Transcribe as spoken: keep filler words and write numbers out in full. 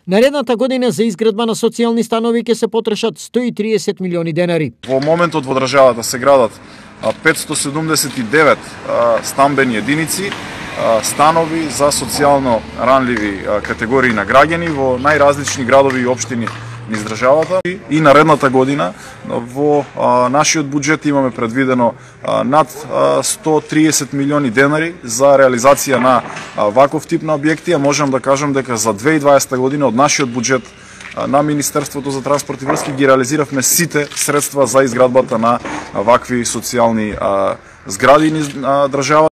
Наредната година за изградба на социјални станови ќе се потрошат сто и триесет милиони денари. Во моментот во државата се градат петстотини седумдесет и девет стамбени единици, станови за социјално ранливи категории на граѓани во најразлични градови и општини низ државата. И наредната година во нашиот буџет имаме предвидено над сто и триесет милиони денари за реализација на ваков тип на објекти, а можам да кажам дека за две илјади и дваесета година од нашиот буџет на Министерството за транспорт и врски ги реализиравме сите средства за изградбата на вакви социјални згради низ државата.